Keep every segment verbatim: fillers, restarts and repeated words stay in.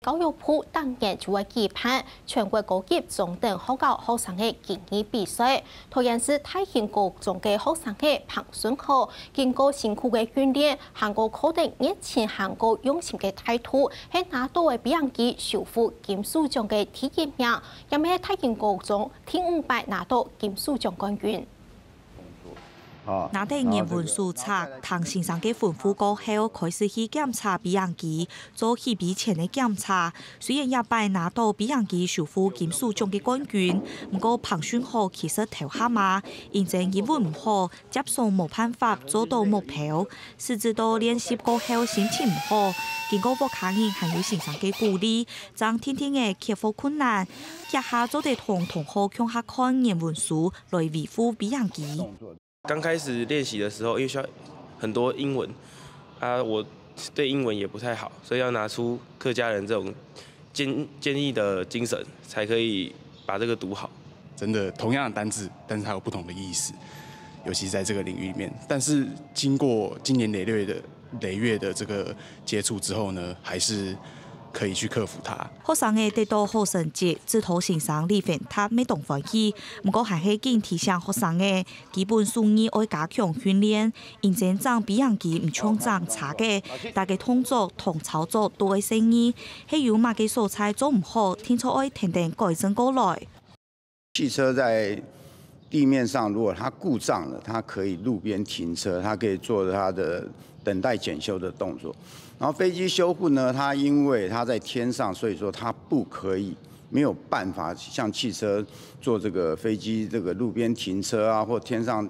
教育部逐年就會舉辦全國高級中等學校學生个競技比賽。桃園市大興高中个學生仔彭順豪，經過辛苦个訓練，還過課程熱情，還過用心个態度，係拿到个比贏機首府金獅獎个第一名，也係大興高中第五擺拿到金獅獎冠軍。 拿等原文書冊，聽先生个吩咐過後，開始去檢查比贏機，做起飛前个檢查。雖然這擺拿到比贏機首府金獅獎个冠軍，毋過彭順豪其實頭下嘛，因為英文毋好，接送無辦法做到目標。 甚至到練習過後心情毋好，經過屋下人還有先生个鼓勵，正定定仔克服困難，這下做得同同學共下看原文書來維護比贏機。剛開始練習的時候，因為需要很多英文啊，我對英文也不太好，所以要拿出客家人這種堅堅毅的精神，才可以把這個讀好。真的同樣的單字，但是它有不同的意思，尤其在這個領域裡面。但是經過經年累月的累月的這個接觸之後呢，還是可以去克服它。學生仔得到好成績，指導先生李煥達乜當歡喜。毋過還係緊提醒學生仔，基本手藝愛加強訓練，因為正比贏機毋像正差个，逐個動作同操作都愛細膩，係有麼个所在做毋好，定著愛跈等改正過來。 汽車在地面上，如果它故障了，它可以路邊停車，它可以做它的等待检修的动作。然后飞机修护呢，它因为它在天上，所以说它不可以，没有办法像汽车做这个飞机这个路边停车啊，或天上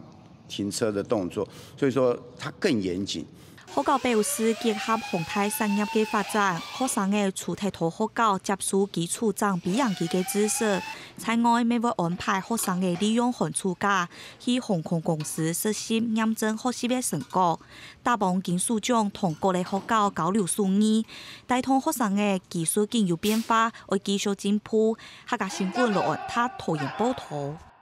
停车的动作，所以说它更严谨。 學校表示，結合航太產業个發展，學生仔除忒在學校接受基礎正比贏機个知識，在外乜會安排學生仔利用寒暑假去航空公司實習驗證學習个成果。打幫金獅獎同各个學校交流手藝，帶動學生仔技術緊有變化，愛繼續進步。客家新聞羅安達桃園報導。